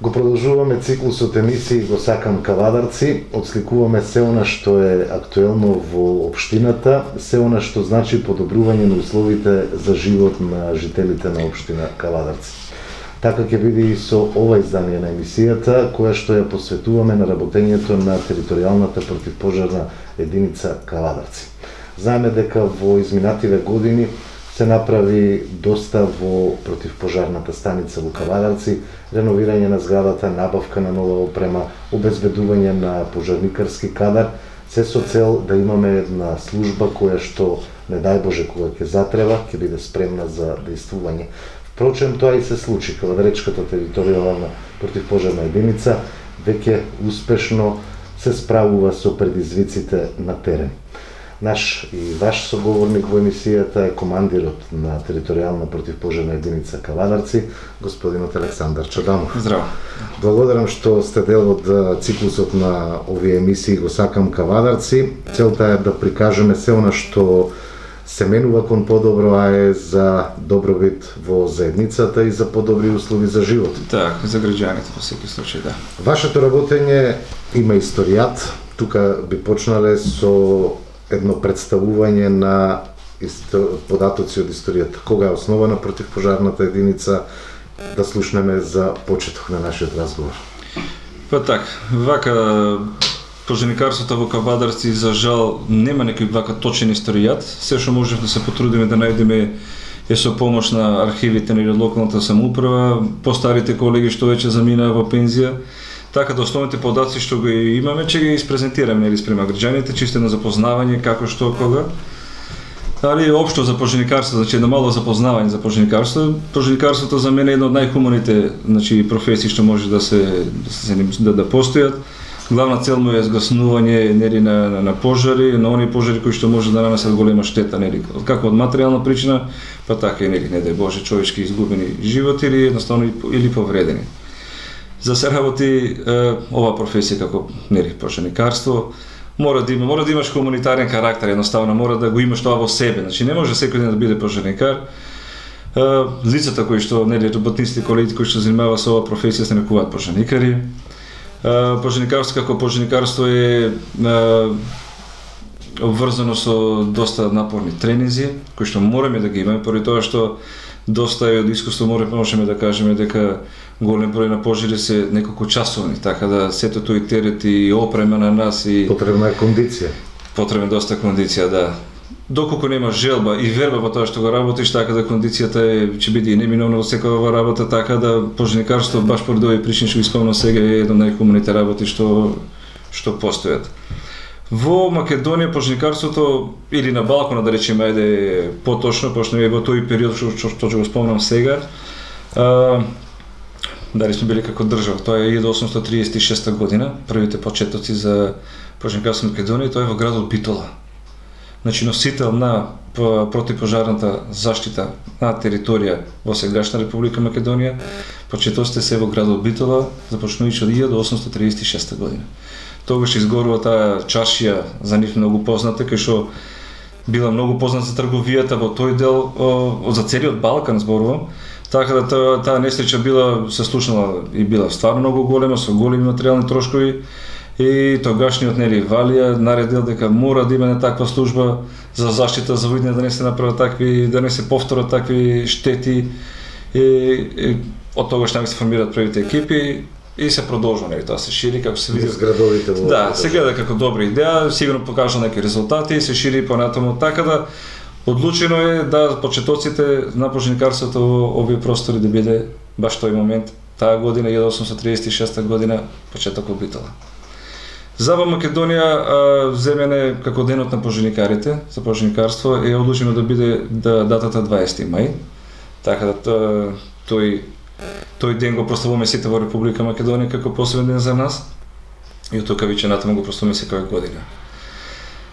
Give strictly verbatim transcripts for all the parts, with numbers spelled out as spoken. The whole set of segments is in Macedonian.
Го продолжуваме циклусот емисии Го сакам Кавадарци, отсликуваме се она што е актуелно во општината, се она што значи подобрување на условите за живот на жителите на општина Кавадарци. Така ќе биде и со ова издание на емисијата, која што ја посветуваме на работењето на територијалната противпожарна единица Кавадарци. Знаеме дека во изминативе години се направи доста во противпожарната станица во Кавадарци, реновирање на зградата, набавка на нова опрема, обезбедување на пожарникарски кадар, се со цел да имаме една служба која што, не дај Боже, кога ќе затреба, ќе биде спремна за действување. Впрочем, тоа и се случи. Кавадаречката територијална противпожарна единица веќе успешно се справува со предизвиците на терен. Наш и ваш соговорник во емисијата е командирот на територијална противпожарна единица Кавадарци, господинот Александар Чаданов. Здраво. Благодарам што сте дел од циклусот на овие емисии Го сакам Кавадарци. Целта е да прикажеме се она што се менува кон подобро, а е за добробит во заедницата и за подобри услови за живот. Так, за граѓаните во секој случај, да. Вашето работење има историјат. Тука би почнале со едно представување на податоци од историјата. Кога е основана противпожарната единица, да слушнеме за почеток на нашиот разговор. Па так, вака пожарникарството во Кавадарци за жал нема некој вака точен историјат. Се што можев да се потрудиме да најдеме е со помош на архивите на локалната самоуправа, постарите колеги што веќе заминаа во пензија. Така да основните податоци што го имаме, ќе ги испрезентираме нели спрема граѓаните, чисто на запознавање како што кога. Али општо за пожарникарство, значи едно мало запознавање за пожарникарство. Пожарникарството за мене е една од најхуманите, значи професии што може да се да се да, да постојат. Главна цел му е згаснување нели на, на на пожари, на оние пожари кои што може да нанесат голема штета нели, како од материјална причина, па така и нели не дај Боже човечки изгубени животи или едноставно или повредени. За се работи е, ова професија како нели пожарникарство, мора да има, мора да имаш хуманитарен карактер, едноставно мора да го имаш тоа во себе. Значи не може секој ден да биде пожарникар. Е, лицата кои што нели работниците, колегите кои што занимаваат со ова професија се нарекуваат пожарникари. Е, пожарникарство како пожарникарство е, е обврзано со доста напорни тренинзи кои што мораме да ги имаме, поради тоа што доста од искуство можеме да кажеме дека голем број на пожари се неколку часовни, така да сето тој терет и опрема на нас и потребна е кондиција. Потребна доста кондиција, да. Доколку нема желба и верба во тоа што го работиш, така да кондицијата е ќе биде и неминовна во секоја работа, така да пожарникарство баш поради овие причини што го спомнав сега е една од најхуманите работи што што постојат. Во Македонија пожарникарството или на Балкана да речеме ајде поточно, пошто е во тој период што што ќе го спомнам сега. А, дали сме били како држава, тоа е еден осумстотини триесет и шеста година, првите почетоци за пожарникарство во Македонија, тоа е во градот Битола. Значи носител на противпожарната заштита на територија во сегашна Република Македонија, почетоците се во градот Битола, започнувајќи од еден осумстотини триесет и шеста година. Тогаш изгорува таа чаршија за нив многу позната, кај што била многу позната за трговијата во тој дел, о, за целиот Балкан зборувам. Така да таа, таа несреќа била се слушнала и била стварно многу голема, со големи материјални трошкови, и тогашниот нели Валија наредил дека мора да има на таква служба за заштита за видење да не се направат такви, да не се повторат такви штети, и, и од тогаш се формираат првите екипи и се продолжува нели тоа се шири како се види зградовите во. Да, се гледа како добра идеја, сигурно покажа некои резултати и се шири понатаму, така да одлучено е да почетоците на пожарникарството во овие простори да биде баш тој момент, таа година еден осумстотини триесет и шеста година, почетокот Битола. За Македонија земене како денот на пожарникарите, за пожарникарство е одлучено да биде да, датата дваесети мај, така да тој тој ден го прославуваме сите во Република Македонија како посебен ден за нас и од тука веќе натаму го прославуваме секоја година.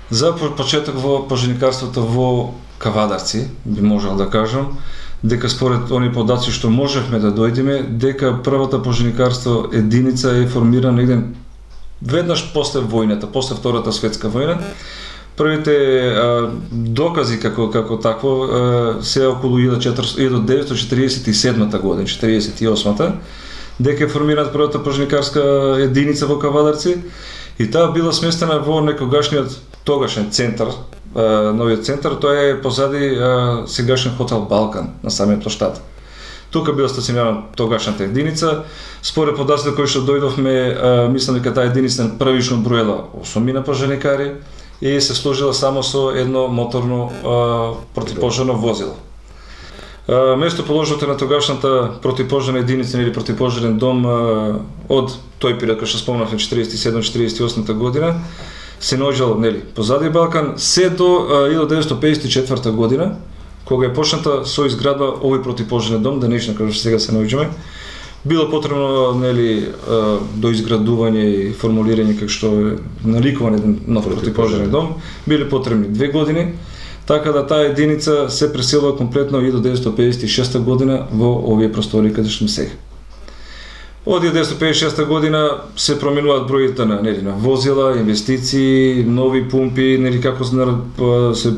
За почеток во пожарникарството во Кавадарци би можел да кажам дека според оние податоци што можевме да дојдеме, дека првата пожарникарство единица е формирана негде веднаш после војната, после Втората светска војна. Првите а, докази како како такво а, се околу еден деветстотини четириесет и седма година, четириесет и осма. дека е формирана првата пожарникарска единица во Кавадарци и таа била сместена во некогашниот тогашен центар, новиот центар, тоа е позади сегашен хотел Балкан на самиот площад. Тука била стационирана тогашната единица. Според податоците кои што дојдовме, мислам дека таа единица првично броела осумина пожарникари и се служила само со едно моторно противпожарно возило. Местоположението на тогашната противпожарна единица или противпожарен дом од тој период кој што спомнавме четириесет и седма четириесет и осма година се наоѓал нели позади Балкан се до илјадесетстотини деветдесет и четврта година кога е почната со изградба овој противпожарен дом, денешно како што сега се наоѓаме. Било потребно нели до изградување и формулирање како што е наликуван еден нов противпожарен дом, биле потребни две години. Така да таа единица се преселува комплетно илјадесетстотини педесет и шеста година во овие простори каде што сме сега. Од илјадесетстотини педесет и шеста година се променуваат броите на нели на возила, инвестиции, нови пумпи, нели како се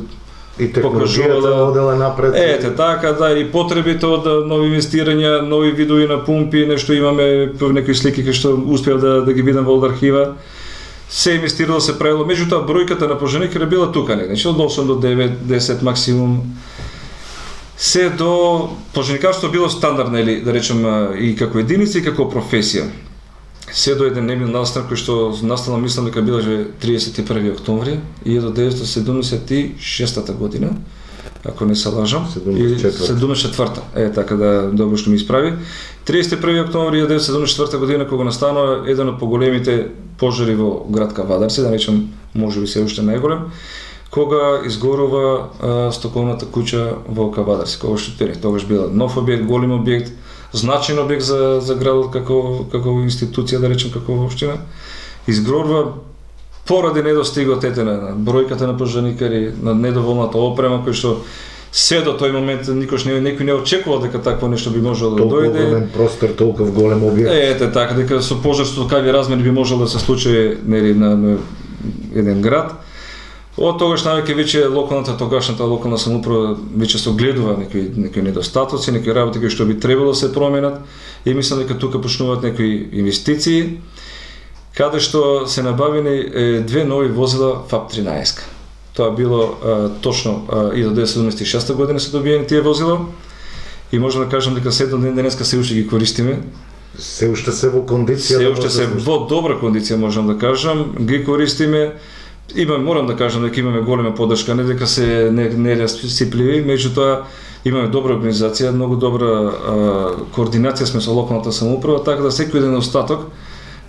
и технологијата одела напред. Ете, така да, и потребите од нови инвестирања, нови видови на пумпи, нешто имаме некои слики кои што успеав да, да ги видам во архива. Се инвестирало, се правило, меѓутоа бројката на пожарникари била тука негде, значи од осум до девет, десет максимум. Се до пожарникарство било стандард, нели, да речем, и како единица и како професија. Се до еден немил настан кој што настана, мислам дека била же триесет и први октомври илјадесет деветстотини седумдесет и шеста година, ако не се лажам, седумдесет и четврта. Е, така да добро што ми исправи. триесет и први октомври илјадесет деветстотини седумдесет и четврта година кога настанува еден од поголемите пожари во град Кавадарци, да речем, можеби се уште најголем, кога изгорува а, стоковната куќа во Кавадарци, кога што тогаш била нов објект, голем објект, значаен објект за за градот како како институција, да речем, како општина. Изгорува поради недостигот ете на бројката на пожарникари, на недоволната опрема кој што се до тој момент никош не некој не очекувал дека такво нешто би можело да дојде. Толку голем простор, толку голем објект. Ете така дека со пожар со такви размери би можело да се случи нели на, на еден град. Од тогаш навеќе веќе локалната тогашната локална самоуправа веќе се огледува некои некои недостатоци, некои работи кои што би требало да се променат и мислам дека тука почнуваат некои инвестиции каде што се набавени е, две нови возила ФАП тринаесет. Тоа било а, точно илјадесетстотини седумдесет и шеста година се добиени тие возила и можам да кажам дека се до ден денеска се уште ги користиме. Се уште се во кондиција. Се уште се во добра кондиција можам да кажам, ги користиме. Имаме, морам да кажам дека имаме голема поддршка, не дека се не не расипливи, меѓутоа имаме добра организација, многу добра а, координација сме со локалната самоуправа, така да секој еден остаток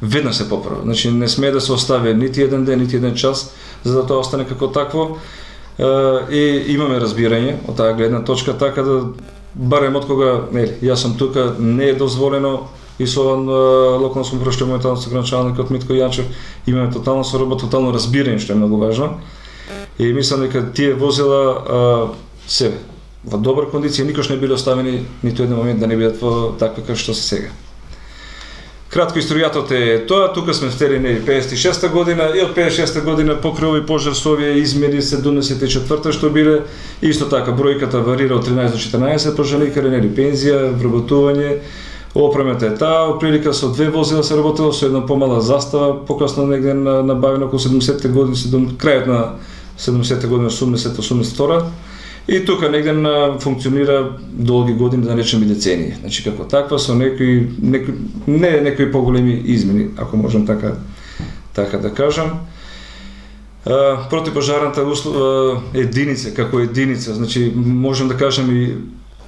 веднаш се поправи. Значи не сме да се остави нити еден ден, нити еден час за да тоа остане како такво. А, и имаме разбирање од таа гледна точка, така да барем од кога, нели, јас сум тука, не е дозволено и со локална самоуправа што е моментално со градоначалникот Митко Јанчев имаме тотално соработа, тотално разбирање што е многу важно. И мислам дека тие возила а, се во добра кондиција, никош не биле оставени ниту еден момент да не бидат во таква како што се сега. Кратко историјатот е тоа, тука сме втели нели педесет и шеста година и од педесет и шеста година покрај овој пожар со овие измери седумдесет и четврта што биле, исто така бројката варира од тринаесет до четрнаесет пожарникари, нели пензија, вработување. Опремата е таа, отприлика со две возила се работело, со една помала застава, покасно негде набавено околу седумдесетте години, крајот на седумдесетте години, осумдесет осумдесет и втора. И тука негде функционира долги години, да речеме децении. Значи како таква со некои некои не некои поголеми измени, ако можам така така да кажам. А, противпожарната услова единица како единица, значи можам да кажам и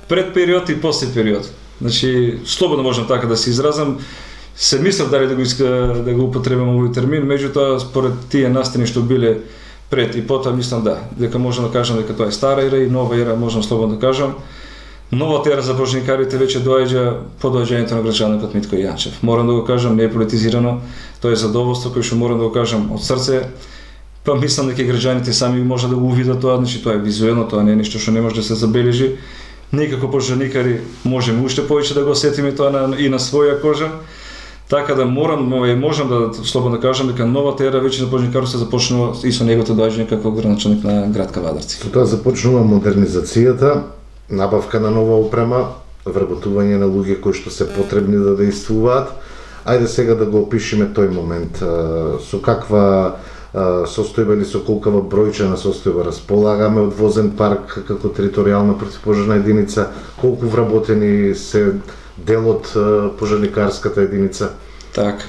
пред период и после период. Значи слободно можам така да се изразам. Се мислев дали да го иска да го употребам овој термин, меѓутоа според тие настани што биле пред и потоа мислам да, дека можам да кажам дека тоа е стара ера и нова ера, можам слободно да кажам. Новата ера за пожарникарите веќе доаѓа по доаѓањето на градоначалникот Митко Јанчев. Морам да го кажам, не е политизирано, тоа е задоволство кој што морам да го кажам од срце. Па мислам дека граѓаните сами може да го увидат тоа, значи тоа е визуелно, тоа не е нешто што не може да се забележи. Ние како пожарникари можеме уште повеќе да го осетиме тоа на, и на своја кожа. Така да морам, можам да слободно кажам дека новата ера веќе на пожарникарството започнува и со неговото доаѓање како градоначалник на град Кавадарци. Со тоа започнува модернизацијата, набавка на нова опрема, вработување на луѓе кои што се потребни да действуваат. Ајде сега да го опишеме тој момент. Со каква состојба или со колкава бројчена состојба располагаме од возен парк како територијална противпожарна единица, колку вработени се дел од пожарникарската единица? Так.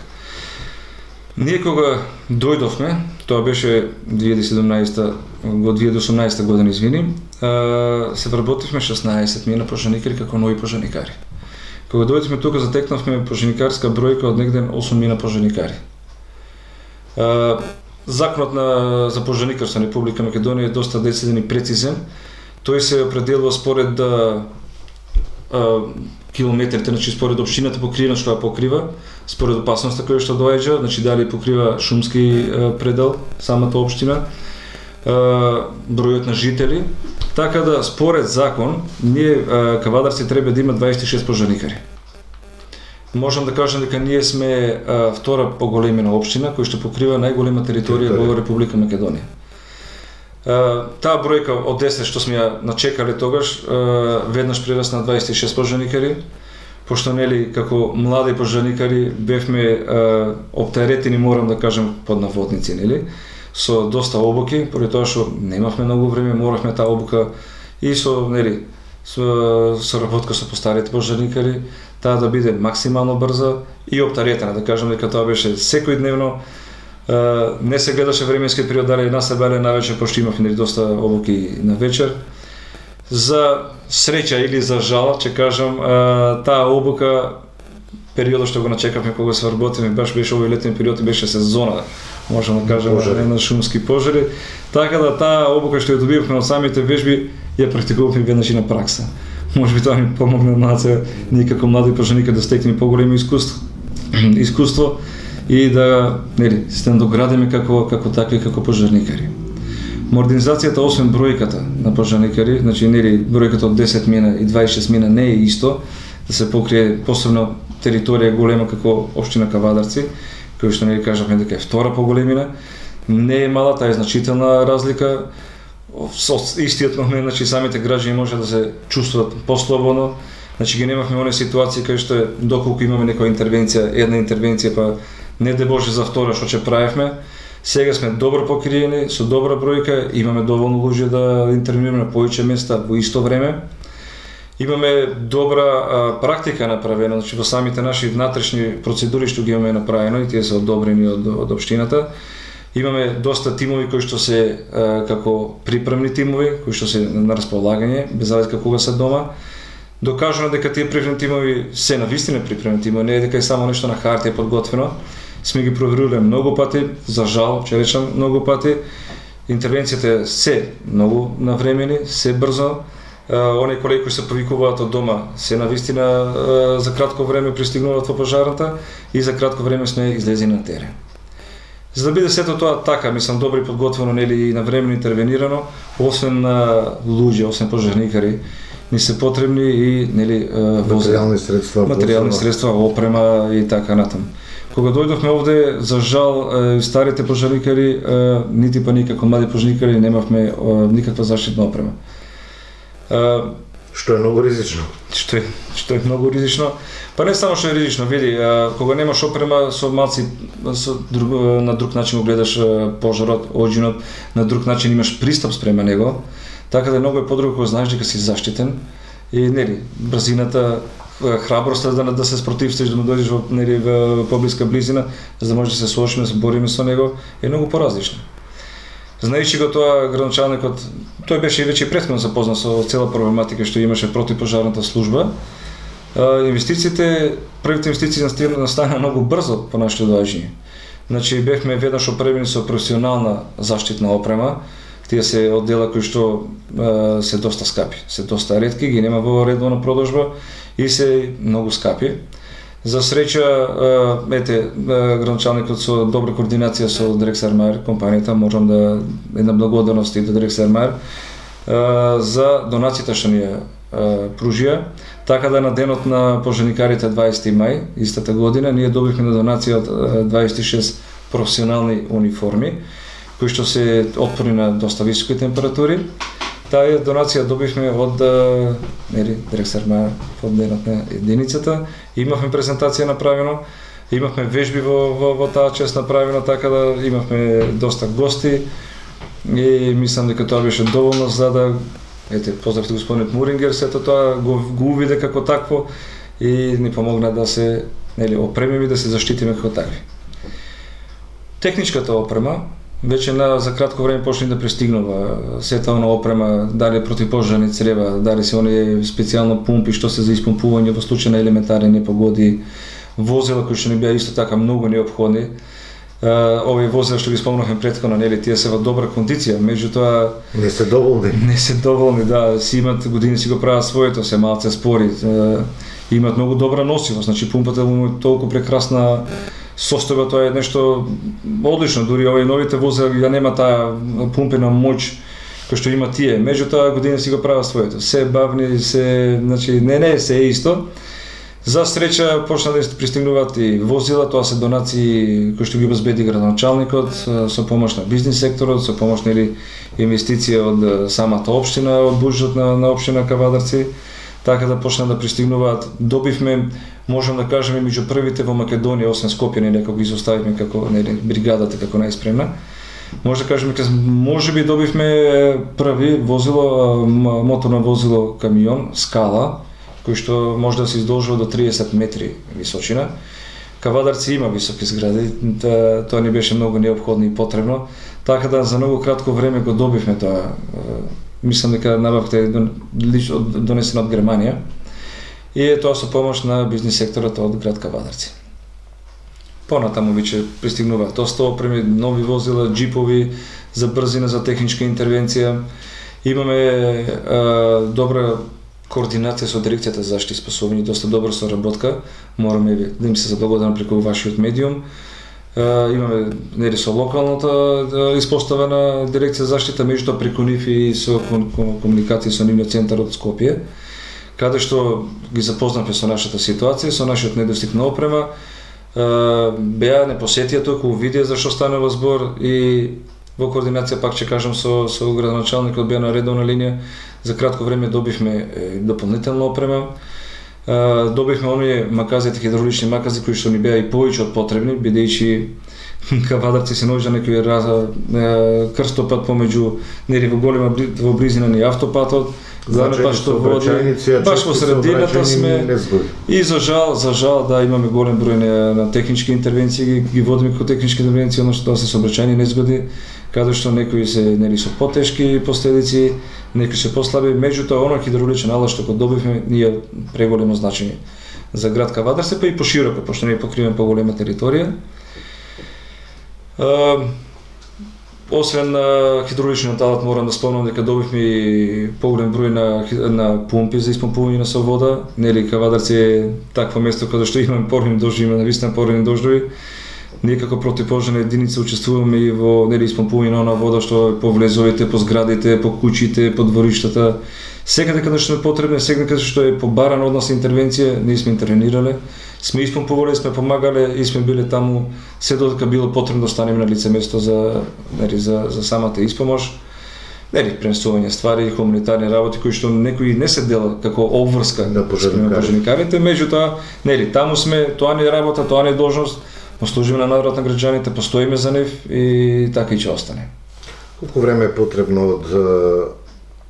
Ние кога дојдовме, тоа беше две илјади и седумнаесета, во две илјади и осумнаесета година, извини, се вработивме шеснаесет мина пожарникари како нови пожарникари. Кога дојдовме тука, затекнавме пожарникарска бројка од негде осум мина пожарникари. Законот на за пожарникарство на Република Македонија е доста дециден и прецизен. Тој се определува според да километрите, значи според општината покривена што ја покрива, според опасноста која што доаѓа, значи дали покрива шумски предел самата општина, бројот на жители, така да според закон ние Кавадарци треба да има дваесет и шест пожарникари. Можам да кажам дека ние сме а, втора поголемина општина која што покрива најголема територија во Република Македонија. А, таа бројка од десет што сме ја начекале тогаш, а, веднаш прерасна на дваесет и шест пожарникари, пошто нели како млади пожарникари бевме а, оптеретени, морам да кажам, под наводници, нели, со доста обуки, поради тоа што немавме многу време, моравме таа обука и со нели со соработка со постарите пожарникари, таа да биде максимално брза и оптаретена, да кажам дека тоа беше секојдневно. Не се гледаше временскиот период дали една се беле навечер, пошто имавме доста обуки на вечер. За среќа или за жал, ќе кажам, таа обука периодот што го начекавме кога се вработиме, баш беше овој летен период и беше сезона, можам да кажам, на шумски пожари. Така да таа обука што ја добивавме од самите вежби ја практикувавме веднаш и на пракса. Може би тоа ми помогна малце ние како млади пожарникари да стекнеме поголемо искуство, искуство и да, нели, се надоградиме како како такви како пожарникари. Модернизацијата, освен бројката на пожарникари, значи нели бројката од десет мина и дваесет и шест мина не е исто, да се покрие посебно територија голема како општина Кавадарци, кој што нели кажавме дека е втора поголемина, не е мала, таа е значителна разлика. Со истиот момент, значи самите граѓани може да се чувствуваат послободно. Значи ги немавме оние ситуации кај што доколку имаме некоја интервенција, една интервенција, па не де Боже за втора што ќе правевме. Сега сме добро покриени, со добра бројка, имаме доволно луѓе да интервенираме на повеќе места во исто време. Имаме добра а, практика направена, значи во самите наши внатрешни процедури што ги имаме направено и тие се одобрени од, од општината. Имаме доста тимови кои што се а, како припремни тимови, кои што се на располагање, без разлика кога се дома. Докажано дека тие припремни тимови се навистина припремни тимови, не е дека е само нешто на хартија подготвено. Сме ги проверувале многу пати, за жал, ќе речам многу пати. Интервенцијата се многу навремени, се брзо. Оние колеги кои се повикуваат од дома се навистина за кратко време пристигнуваат во пожарната и за кратко време сме излезени на терен. За да биде сето тоа така, мислам, добро и подготвено, нели, и навремено интервенирано, освен на луѓе, освен пожарникари, ни се потребни и нели материјални средства, материјални средства, опрема и така натаму. Кога дојдовме овде, за жал, старите пожарникари, нити па никако млади пожарникари немавме никаква заштитна опрема. Што е многу ризично. Што е, што е многу ризично. Па не само што е ризично, види, кога немаш опрема, со малци со друг, на друг начин го гледаш пожарот, оđинот, на друг начин имаш пристап спрема него, така да многу е подруго кога знаеш дека си заштитен и нели брзината, храброста да да се спротивстоиш, да му дојдеш во нели во поблиска близина, за да можеш да се соочиме, да се бориме со него, е многу поразлично. Знаејќи го тоа, градоначалникот, тој беше веќе претходно запознат со цела проблематика што имаше противпожарната служба. Инвестициите, првите инвестиции настана многу брзо по нашето доаѓање. Значи бевме веднаш опремени со професионална заштитна опрема. Тие се оддела кои што е, се доста скапи, се доста ретки, ги нема во редовна продажба и се многу скапи. За среќа, ете, градоначалникот со добра координација со Дирекс Армаер, компанијата, можам да една благодарност и до Дирекс Армаер за донацијата што ни ја пружија, така да на денот на пожарникарите дваесети мај истата година ние добивме на донација од дваесет и шест професионални униформи кои што се отпорни на доста високи температури. таа донација добивме од нели директор на фондот на единицата. Имавме презентација направено, имавме вежби во, во, во таа чест направено, така да имавме доста гости и мислам дека тоа беше доволно за да ете поздравите господинот Мурингер, сето тоа го, го увиде како такво и ни помогна да се нели опремиме, да се заштитиме како такви. Техничката опрема веќе на за кратко време почна да пристигнува сета она опрема, дали противпожарни црева, дали се оние специјално пумпи што се за испумпување во случај на елементарни непогоди, возила кои што не беа исто така многу неопходни. Овие возила што ги спомнавме претходно, нели тие се во добра кондиција, меѓутоа не се доволни. Не се доволни, да, си имат години си го прават своето, се малце спори, имаат многу добра носивост, значи пумпата му е толку прекрасна состојба, тоа е нешто одлично, дури овие новите возила ја нема таа пумпена моќ кој што има тие, меѓутоа години си го прават своето, се бавни, се, значи не не се е исто. За среќа почна да пристигнуваат и возила, тоа се донации кои што ги обезбеди градоначалникот со помош на бизнис секторот, со помош нели инвестиција од самата општина, од буџетот на, на општина Кавадарци, така да почна да пристигнуваат. Добивме, можам да кажеме, меѓу првите во Македонија, освен Скопје, нели како ги изоставивме како нели бригадата како најспремна. Може да кажеме дека можеби добивме први возило, моторно возило камион Скала, кој што може да се издолжува до триесет метри височина. Кавадарци има високи згради, тоа ни беше многу неопходно и потребно, така да за многу кратко време го добивме тоа. Мислам дека набавката е донесена од Германија и е тоа со помош на бизнис секторот од град Кавадарци. Понатаму веќе пристигнуваат доста опреми, нови возила, джипови за брзина, за техничка интервенција. Имаме а, добра координација со дирекцијата за заштита и спасување, доста добра соработка. Мораме да им се заблагодарам преку вашиот медиум. Uh, имаме нели со локалната uh, испоставена дирекција за заштита, меѓутоа преку нив и со комуникација со нивниот центар од Скопје, каде што ги запознавме со нашата ситуација, со нашиот недостиг на опрема. Uh, беа не посетија току, видеа за што станува збор и во координација, пак ќе кажам, со, со градоначалникот беа на редовна линија. За кратко време добивме е, дополнителна опрема. Uh, добивме оние маказите, хидравлични макази кои што ни беа и повеќе од потребни, бидејќи Кавадарци се наоѓа некој крстопат помеѓу нели во голема во близина на автопатот, главно пат што води баш во средината сме и за жал, за жал да имаме голем број на, на технички интервенции, ги, ги водиме како технички интервенции, оно што се сообраќајни незгоди, каде што некои се нели со потешки последици, некои се послаби, меѓутоа оно хидравличен алат што го добивме ние преголемо значење за град Кавадарци, па и пошироко, пошто ние покриваме поголема територија. Uh, освен на хидравличниот алат, морам да спомнам дека добивме и поголем број на, на пумпи за испумпување со вода. Нели Кавадарци е такво место каде што имаме порни дождови, има навистина порни дождови. Ние како противпожарна единица учествуваме и во нели испумпување на она вода што е по влезовите, по зградите, по куќите, по двориштата. Секаде каде што е потребно, секаде каде што е побарана од нас интервенција, ние сме интервенирале. Сме испумпувале, сме помагале и сме биле таму се додека било потребно да станеме на лице место за нели за за самата испомош. Нели пренесување ствари, хуманитарни работи кои што некои не се дела како обврска на пожарникарите, меѓутоа нели таму сме, тоа не е работа, тоа не е должност, но служиме на народот на граѓаните, постоиме за нив и така и ќе остане. Колку време е потребно од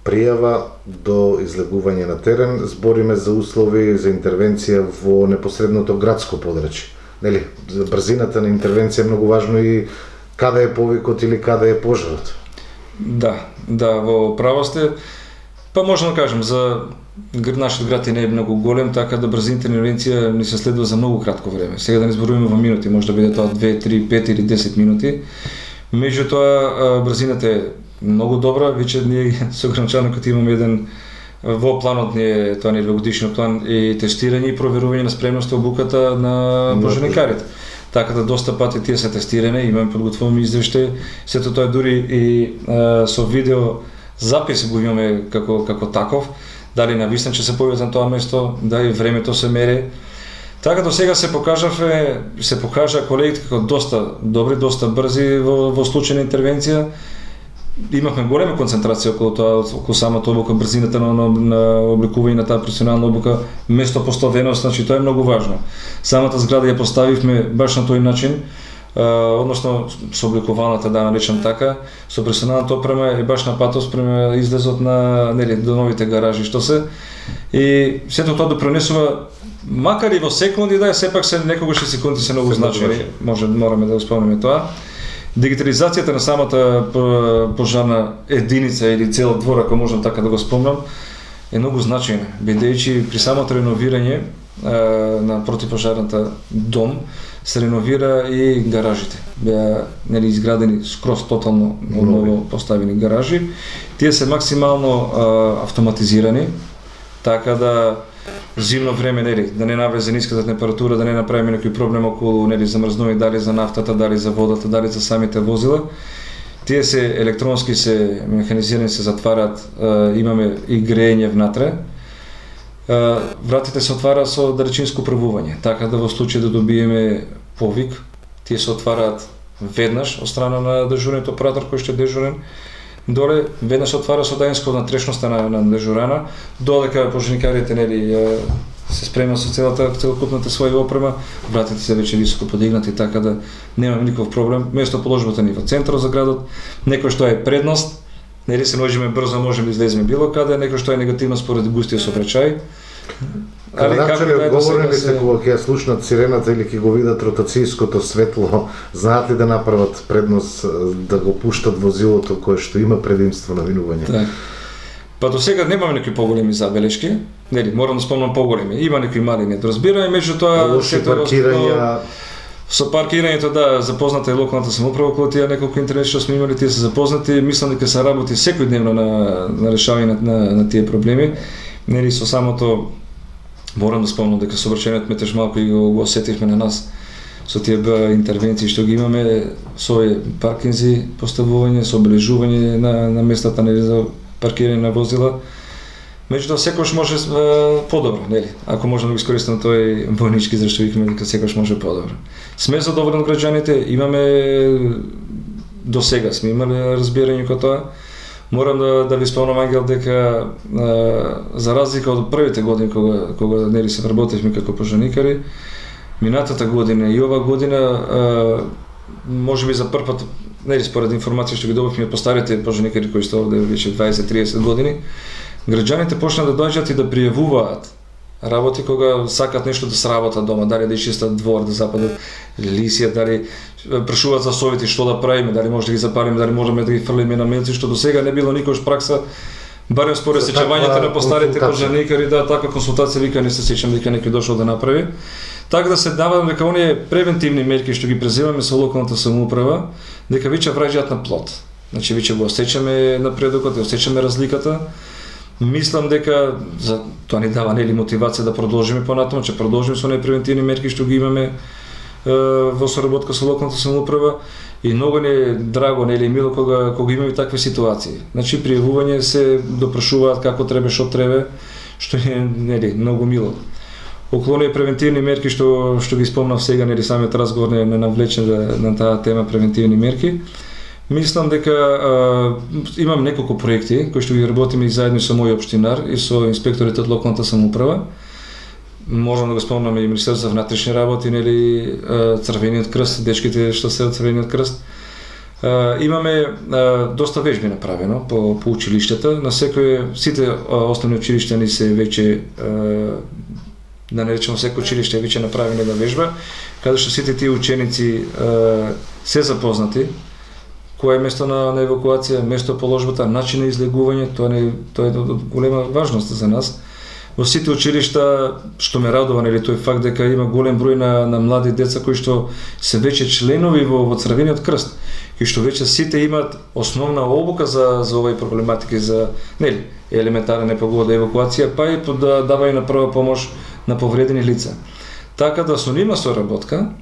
пријава до излегување на терен? Збориме за услови за интервенција во непосредното градско подрачје. Нели, брзината на интервенција е многу важно и каде е повикот или каде е пожарот. Да, да, во право сте. Па можам да кажем, за нашиот град не е многу голем, така да брзината интервенција ни се следува за многу кратко време. Сега да не зборуваме во минути, може да биде тоа две, три, пет или десет минути. Меѓутоа, брзината е многу добра, веќе ние со гранчаникот имаме еден во планот ни е тоа нели годишниот план и тестирање и проверување на спремноста обуката на пожарникарите. Така да доста пати тие се тестирани, имаме подготвуваме извештај, сето тоа дури и а, со видео запис го имаме како како таков, дали навистина ќе се појават на тоа место, дали времето се мери. Така до сега се покажаве, се покажа колегите како доста добри, доста брзи во, во случај на интервенција. имавме голема концентрација околу тоа, околу самата обука, брзината на, на, на обликување на таа професионална обука, местопоставеност, значи тоа е многу важно. Самата зграда ја поставивме баш на тој начин, Uh, односно со обликуваната, да наречам така, со професионалната опрема е баш на патот према излезот на, нели, до новите гаражи што се. И сето тоа допринесува, макар и во секунди, да, сепак се некогаш и секунди се многу значени, може мораме да го спомнеме тоа. Дигитализацијата на самата пожарна единица или цел двор, ако можам така да го спомнам, е многу значајна, бидејќи при самото реновирање uh, на противпожарната дом се реновира и гаражите. Беа, нели, изградени скроз тотално ново поставени гаражи. Тие се максимално а, автоматизирани, така да зимно време, нели, да не навлезе ниската температура, да не направиме некој проблем околу, нели, замрзнување, дали за нафтата, дали за водата, дали за самите возила. Тие се електронски се механизирани, се затвараат, а, имаме и грејење внатре. Вратите се отвараат со далечинско правување, така да во случај да добиеме повик, тие се отвараат веднаш од страна на дежурниот оператор кој што е дежурен доле, веднаш се отвара со дајинско внатрешноста на, на дежурана, додека пожарникарите, нели, се спремат со целата целокупната своја опрема, вратите се веќе високо подигнати, така да немаме никаков проблем. Местоположбата ни во центарот за градот, некој што е предност, нели се можеме брзо, можеме да излеземе било каде, некој што е негативно според густиот сообраќај. Али како ли одговорени ли се кога ќе слушнат сирената или ќе го видат ротацијското светло, знаат ли да направат предност да го пуштат возилото кое што има предимство на минување? Так. Па до сега немаме некои поголеми забелешки, нели, морам да спомнам поголеми. Има некои мали недоразбирања, меѓутоа сето паркирања. Со паркирањето, да, запозната е локалната самоуправа околу тие неколку интервенции што сме имали, тие се запознати, мислам дека се работи секојдневно на, на решавање на, на, на тие проблеми. Нели, со самото, морам да спомнам дека сообраќајниот метеж малку и го, го осетивме на нас со тие интервенции што ги имаме, со паркинзи, поставување, со обележување на, на местата, нели, за паркирање на возила. Меѓутоа секогаш може е, подобро, нели? Ако можам да го искористам тој војнички израз што викаме дека секогаш може подобро. Сме задоволни од граѓаните, имаме до сега сме имали разбирање кога тоа. Морам да да ви спомнам, Ангел, дека е, за разлика од првите години кога кога нели се вработивме како пожарникари, минатата година и ова година е, можеби за прв пат, нели, според информација што ги добивме од постарите пожарникари кои што овде веќе дваесет триесет години, граѓаните почнаа да доаѓаат и да пријавуваат работи кога сакат нешто да сработат дома, дали да ичистат двор, да западат лисија, дали прашуваат за совети што да правиме, дали може да ги запалиме, дали можеме да ги фрлиме на мелци, што до сега не било никош пракса, барем според сеќавањето на постарите пожарникари, да, таква консултација вика не се сеќам дека некој дошол да направи. Така да се навадам дека оние превентивни мерки што ги преземаме со локалната самоуправа, дека веќе враѓаат на плод. Значи веќе го осеќаме напредокот, осеќаме разликата. Мислам дека за тоа ни дава, нели, мотивација да продолжиме понатаму, че продолжиме со оние превентивни мерки што ги имаме е, во соработка со локалната самоуправа, и многу ни е драго, нели, мило кога кога имаме такви ситуации. Значи пријавување се допрашуваат како треба, што треба, што е, нели, многу мило. Околу оние превентивни мерки што што ги спомнав сега, нели, самиот разговор не, не навлече на таа тема превентивни мерки. Мислам дека а, имам неколку проекти кои што ги работиме и заедно со мој општинар и со инспекторите од локалната самоуправа. Можам да го спомнам и Министерството за внатрешни работи, нели, Црвениот крст, дечките што се од Црвениот крст. А, имаме а, доста вежби направено по, по училиштата. На секој, сите а, основни училишта ни се веќе, а, да не речеме секој училиште е веќе направено една вежба, каде што сите тие ученици а, се запознати кое е место на, на евакуација, место положбата, начин на излегување, тоа не тоа е од голема важност за нас. Во сите училишта, што ме радува, нели, тој факт дека има голем број на, на млади деца кои што се веќе членови во, во Црвениот крст, кои што веќе сите имаат основна обука за за овај проблематики, за, нели, елементарна непогода, евакуација, па и да давање на прва помош на повредени лица. Така да со нива соработка,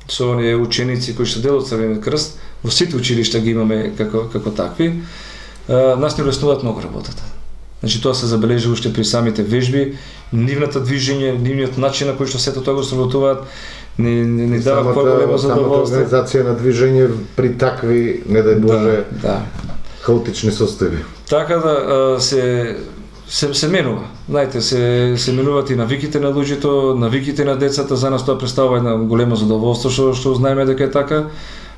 со оние ученици кои што дел од Црвениот крст, во сите училишта ги имаме како како такви, а, нас не улеснуваат многу работата. Значи тоа се забележи уште при самите вежби, нивната движење, нивниот начин на кој што сето тоа го сработуваат, не не, не дава поголемо задоволство. Самата организација на движење при такви, не дај Боже. Да, да. хаотични состојби. Така да се се се менува. Знаете, се се менуваат и навиките на луѓето, навиките на децата, за нас тоа представува една големо задоволство што што знаеме дека е така.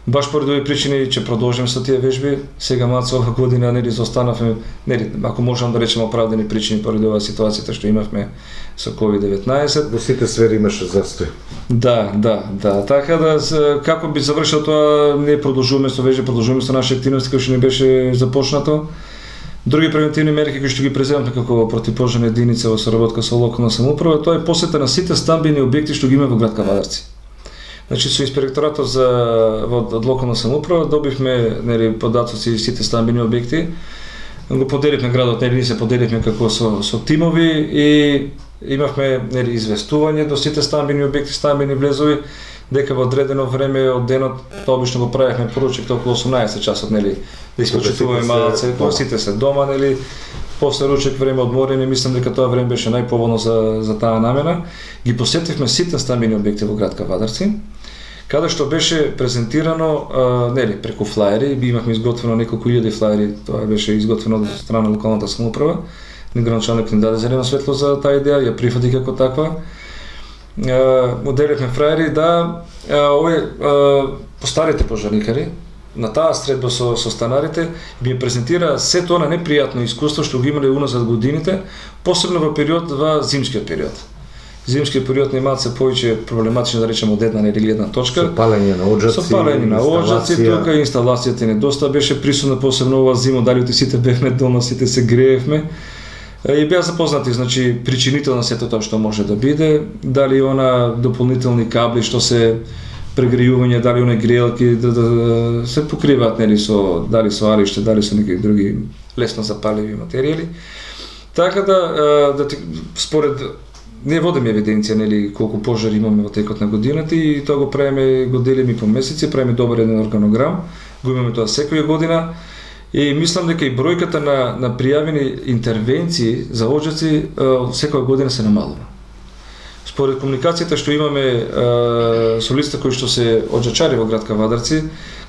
Баш поради овие причини ќе продолжиме со тие вежби. Сега малку ова година нели заостанавме, нели ако можам да речеме оправдани причини поради оваа ситуација што имавме со ковид деветнаесет. Во сите сфери имаше застој. Да, да, да. Така да како би завршил тоа, не продолжуваме со вежби, продолжуваме со наши активности кои што не беше започнато. Други превентивни мерки кои што ги преземавме како противпожарна единица во соработка со локална самоуправа, тоа е посета на сите стамбени објекти што ги има во град Кавадарци. Значи со инспекторатот за од локална самоуправа добивме нели податоци и сите стамбени објекти. Го поделивме градот, нели ние се поделивме како со со тимови и имавме нели известување до сите стамбени објекти, стамбени влезови, дека во одредено време од денот, тоа обично го правевме поручек околу осумнаесет часот, нели, да искочитуваме малце, кога сите се дома, нели, после ручек време одморени, мислам дека тоа време беше најповолно за за таа намена. Ги посетивме сите стамбени објекти во град Кавадарци, каде што беше презентирано, а, нели, преку флаери, би имавме изготвено неколку илјади флаери, тоа беше изготвено од страна на локалната самоуправа. Градоначалникот ни даде зелено светло за таа идеја, ја прифати како таква. Моделивме фраери да овие постарите пожарникари на таа средба со со станарите би презентира се тоа на непријатно искуство што го имале уназад годините, посебно во период во зимскиот период. Зимскиот период не малце повеќе проблематично, да речеме, од една или гледна точка. Со палење на оџаци, со палење на оџаци, тука инсталацијата не доста беше присутна, посебно оваа зима, дали сите бевме дома, сите се греевме. И беа запознати, значи, причините на сето тоа што може да биде, дали она дополнителни кабли што се прегрејување, дали она грејалки да, да се покриваат, нели, со дали со ариште, дали со некои други лесно запаливи материјали. Така да да според не водиме евиденција, нели, колку пожари имаме во текот на годината и тоа го правиме, го делиме по месеци, правиме добар еден органограм, го имаме тоа секоја година. И мислам дека и бројката на на пријавени интервенции за оџаци секоја година се намалува. Според комуникацијата што имаме е, со лицата кои што се оџачари во град Кавадарци,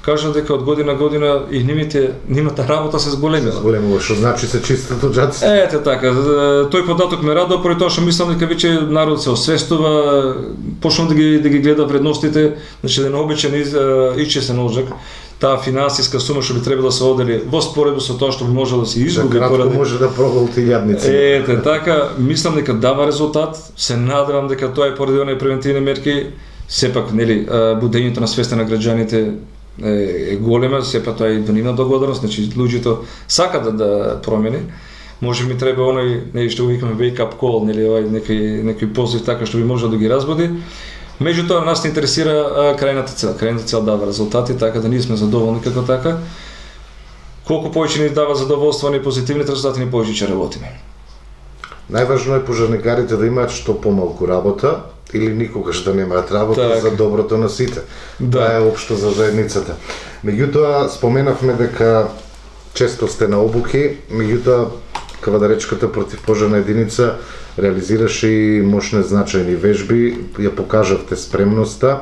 кажам дека од година година и нивните нивната работа се зголемила. Зголемува, што значи се чистат оџаци. Ете така, тој податок ме радува поради тоа што мислам дека веќе народ се освестува, почнува да ги да ги гледа вредностите, значи да не обичен ичесен оџак. Таа финансиска сума што би требало да се одели во споредба со тоа што би можело да се изгуби поради може да проголти јадници. Ете така, мислам дека дава резултат, се надевам дека тоа е поради оние превентивни мерки, сепак нели будењето на свеста на граѓаните е, е голема, сепак тоа е до нивна благодарност, значи луѓето сакаат да, да промени. Може ми треба оној, нели што го викаме wake up call, нели овај некој некој позив така што би можел да ги разбуди. Меѓутоа нас не интересира а, крајната цел. Крајната цел дава резултати, така да ние сме задоволни како така. Колку повеќе ни дава задоволство и позитивните резултати, ни повеќе ќе работиме. Најважно е пожарникарите да имаат што помалку работа или никогаш да немаат работа так, за доброто на сите. Да. Тоа е општо за заедницата. Меѓутоа споменавме дека често сте на обуки, меѓутоа Кавадаречката противпожарна единица реализираше и мощни значајни вежби, ја покажавте спремноста,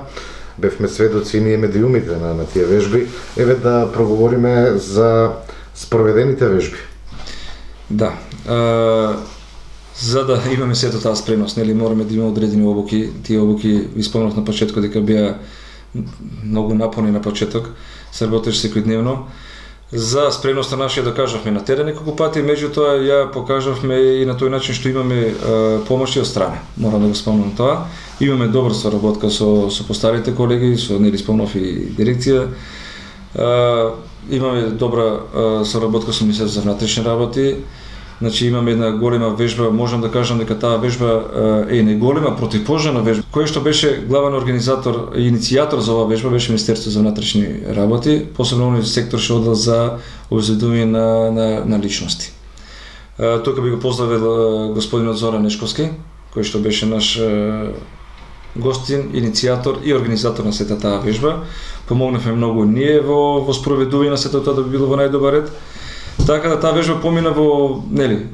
бевме сведоци и ние медиумите на, на тие вежби. Еве да проговориме за спроведените вежби. Да, а, за да имаме сето таа спремност, нели мораме да имаме одредени обуки. Тие обуки, ви спомнав на почетокот дека беа многу напорни на почеток, се работеше секојдневно. За спремноста нашија да кажавме на терен неколку пати, меѓутоа ја покажавме и на тој начин што имаме е, помоши од страна. Морам да го спомнам тоа. Имаме добра соработка со со постарите колеги, со нели спомнав и дирекција. Е, имаме добра е, соработка со Министерството за внатрешни работи. Значи имаме една голема вежба, можам да кажам дека таа вежба е не голема противпожарна вежба, кој што беше главен организатор и иницијатор за оваа вежба беше Министерството за внатрешни работи, посебно оној сектор што одел за обезбедување на, на на личности. Тука би го поздравил господинот Зоран Нешковски, кој што беше наш гостин, иницијатор и организатор на сета таа вежба. Помогнавме многу ние во во спроведување на сето тоа да би било во најдобар ред. Така да таа вежба помина во, нели,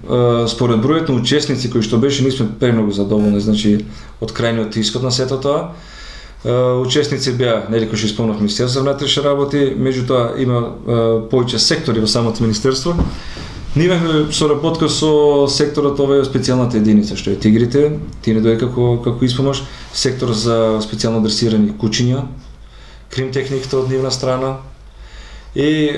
според бројот на учесници кои што беше, ние сме премногу задоволни, значи од крајниот исход на сето тоа. Учесници беа, нели кои што исполнав Министерство за внатрешни работи, меѓутоа има повеќе сектори во самото министерство. Ние имавме соработка со секторот, ова е специјалната единица што е Тигрите, ти не дојде како како испомош, сектор за специјално адресирани кучиња, кримтехниката од нивна страна и е,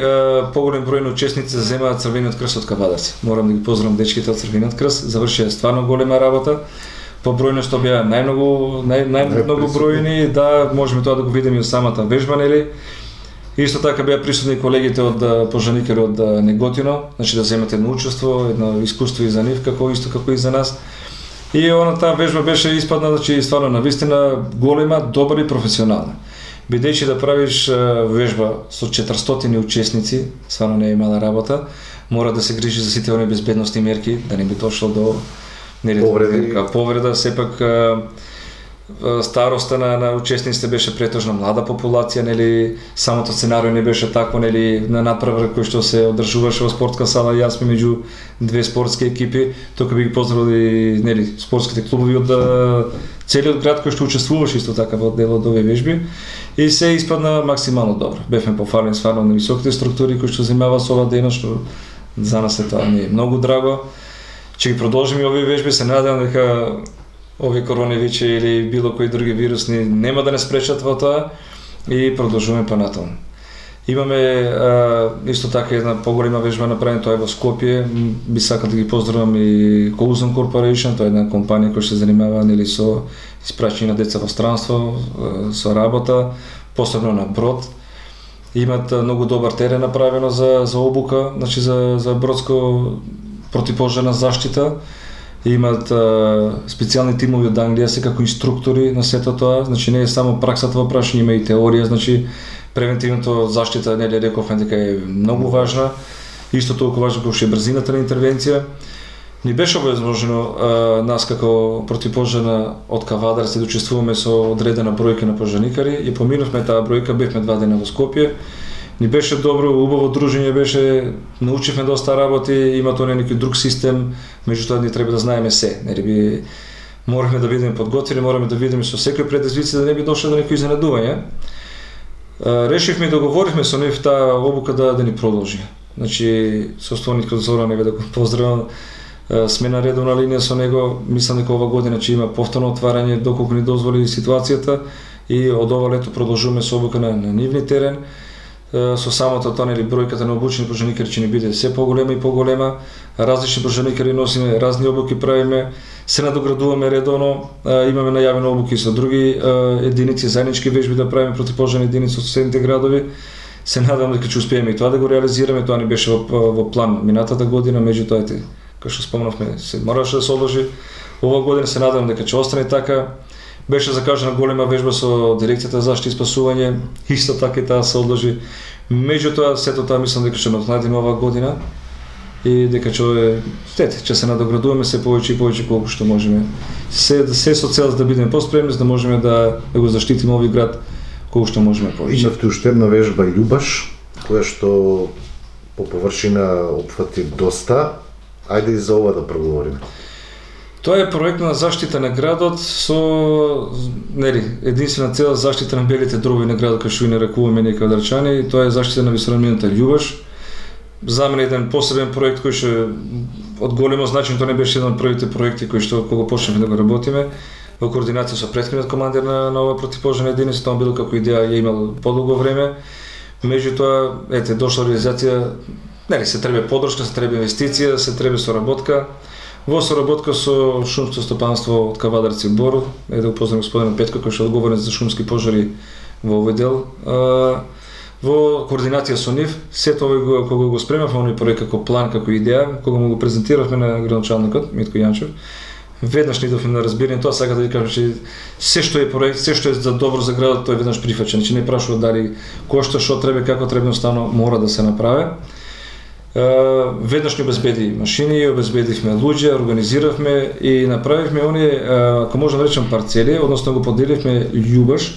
поголем број на учесници земаат Црвениот крст од Кавадарци. Морам да ги поздравам дечките од Црвениот крст, завршија стварно голема работа. По бројност беа најмногу нај најмногу бројни, да можеме тоа да го видиме и од самата вежба, нели. Исто така беа присутни колегите од пожарникари од Неготино, значи да земат едно учество, едно искуство и за нив, како исто како и за нас. И она таа вежба беше испадна, значи стварно навистина голема, добра и професионална. Бидејќи да правиш вежба со четиристотини учесници, стварно не е мала работа, мора да се грижи за сите оние безбедносни мерки, да не би дошло до нели повреди, повреда, сепак староста на, на учесниците беше претежно млада популација, нели самото сценарио не беше такво, нели на надпревар кој што се одржуваше во спортска сала, јас сме меѓу две спортски екипи, тука би ги поздравили нели спортските клубови од целиот град кој што учествуваше исто така во дел од овие вежби и се испадна максимално добро. Бевме пофалени стварно на високите структури кои што занимаваат со ова дејност, што за нас е тоа не е многу драго. Ќе ги продолжиме овие вежби, се надевам дека овие коронавирус или било кои други вирусни нема да не спречат во тоа и продолжуваме понатаму. Имаме а, исто така една поголема вежба направена, тоа е во Скопје. Би сакал да ги поздравам и Coulson Corporation, тоа е една компанија која се занимава нели со испраќање на деца во странство, со работа, посебно на брод. Имаат многу добар терен направено за за обука, значи за за бродско противпожарна заштита. Имаат специјални тимови од Англија се како инструктори на сето тоа, значи не е само праксата во прашање, има и теорија, значи превентивното заштита, нели рековме дека е многу важна. Исто толку важно како што е брзината на интервенција. Ни беше овозможено нас како противпожарна од Кавадарци да учествуваме со одредена бројка на пожарникари и поминавме таа бројка, бевме два дена во Скопје. Ни беше добро, убаво дружење беше, научивме доста работи, има тоа некој друг систем, меѓутоа ни треба да знаеме се, нели би мораме да бидеме подготвени, мораме да видиме со секој предизвици да не би дошло до некои изненадување. Решивме и договоривме со нив таа обука да да ни продолжи. Значи составникот Зоран, еве да го поздравам, сме на редовна линија со него, мислам дека ова година ќе има повторно отварање доколку ни дозволи ситуацијата и од ова лето продолжуваме со обука на, на нивни терен. Со самото тоа нели бројката на обучени пожарникари ќе ни биде се поголема и поголема. Различни пожарникари носиме, разни обуки правиме, се надоградуваме редовно, имаме најавени обуки со други единици, заеднички вежби да правиме противпожарни единици од соседните градови. Се надевам дека ќе успееме и тоа да го реализираме, тоа ни беше во, во план минатата година, меѓутоа ете, како што спомнавме, се мораше да се одложи. Ова година се надевам дека ќе остане така. Беше закажана голема вежба со дирекцијата за заштита и спасување, исто така и таа се одложи. Меѓутоа сето тоа мислам дека ќе надокнадиме оваа година и дека ќе тете, ќе се надоградуваме се повеќе и повеќе колку што можеме. Се се со цел да бидеме поспремни, за да можеме да, да го заштитиме овој град колку што можеме повеќе. Имавте уште една вежба Љубаш, која што по површина опфати доста. Ајде и за ова да проговориме. Тоа е проект на заштита на градот со нели единствена цел заштита на белите дроби на градот, кој што и нарекуваме ние квадрчани, тоа е заштита на висорамината Љубаш. За мене еден посебен проект кој што од големо значење, тоа не беше еден од првите проекти кои што кога почнавме да го работиме во координација со претходниот командир на, на ова противпожарна единица, тоа било како идеја ја имал подолго време. Меѓутоа, ете, дошла реализација, нели се треба поддршка, се треба инвестиција, се треба соработка. Во соработка со шумско стопанство од Кавадарци Бор, е да го поздравам господинот Петко кој што е одговорен за шумски пожари во овој дел. Во координација со нив, сето овој кога го спремавме овој проект како план, како идеја, кога му го презентиравме на градоначалникот Митко Јанчев, веднаш ни дофме на разбирање тоа, сака да ви кажам че се што е проект, се што е за добро за градот, тоа е веднаш прифаќено, значи не прашува дали кошта, што треба, како треба, едноставно мора да се направи. Uh, веднаш ни обезбеди машини, обезбедивме луѓе, организиравме и направивме оние, uh, ако можам да речем, парцели, односно го поделивме Љубаш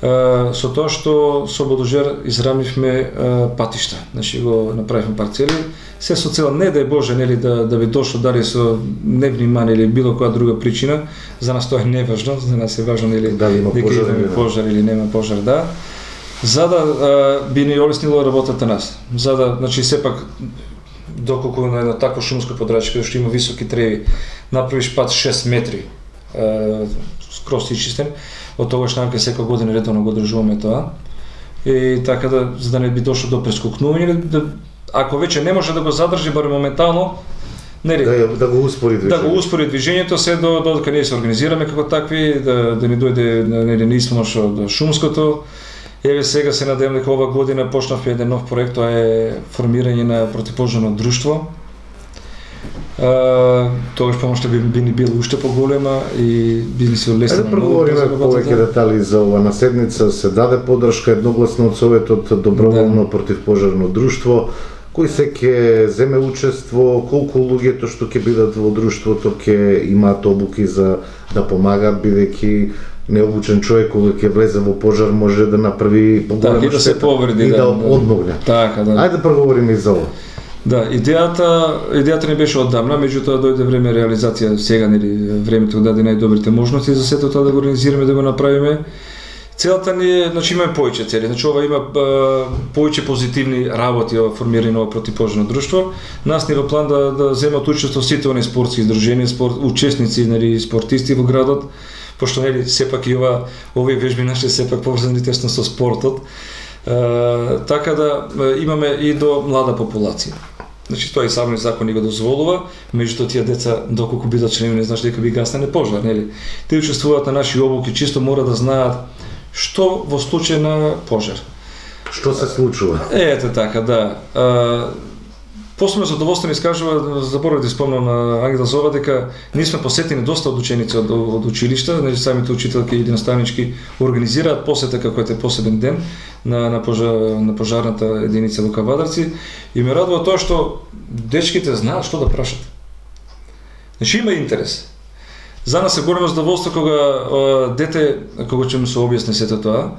со тоа што со Бодожер израмивме патишта, значи го направивме парцели, се со цел не да е Боже, нели, да да би дошло дали со невнимание или било која друга причина, за нас тоа е неважно, за нас е важно нели да има пожар, или пожар или нема пожар, да. За да а, би ни олеснило работата нас. За да, значи сепак доколку на едно такво шумско подрачје што има високи треви, направиш пат шест метри, а, скроз изчистен, од тогаш намка секоја година редовно го одржуваме тоа. И така да, за да не би дошло до прескокнување, да, ако веќе не може да го задржи барем моментално, нели, да, да го успори движењето. Да го успори движењето се до додека ние се организираме како такви, да да ни дојде нели неисмош од шумското. Еве сега се надевам дека ова година почнавме еден нов проект, тоа е формирање на противпожарно друштво. Uh, тогаш помошта би, би ни била уште поголема и би ни се олеснило. Ајде проговориме повеќе детали за ова. На седница се даде подршка едногласно од Советот доброволно да. Противпожарно друштво. Кој се ќе земе учество, колку луѓето што ќе бидат во друштвото ќе имаат обуки за да помагаат, бидејќи необучен човек кога ќе влезе во пожар може да направи поголема да, да се повреди, и да, да одмогне. Така, да. Ајде проговориме и за ова. Да, идејата, идејата не беше оддавна, меѓутоа дојде време реализација сега, нели, времето даде најдобрите можности за сето тоа да го организираме, да го направиме. Целата ни е, значи имаме повеќе цели, значи ова има повеќе позитивни работи ова формирање на ова противпожарно друштво. Нас ни во план да да земат учество сите оние спортски издруженија, спорт, учесници, нели, спортисти во градот, пошто нели сепак и ова овие вежби наши сепак поврзани тесно со спортот. Uh, така да uh, имаме и до млада популација. Значи тоа и самиот закон ни го дозволува, меѓутоа тие деца доколку бидат членови не значи дека би гаснане пожар, нели? Тие учествуваат на наши обуки, чисто мора да знаат што во случај на пожар. Што се случува? Е, ете така, да. Uh, Посебно задоволство ни искажува, заборавив да спомнам на Ангел Зова, дека ние сме посетени доста од ученици од, од училишта, значи самите учителки и наставнички организираат посета како е посебен ден на, на, пожар, на пожарната единица во Кавадарци и ме радува тоа што дечките знаат што да прашат. Значи има интерес. За нас е големо задоволство кога а, дете, кога ќе му се објасни сето тоа,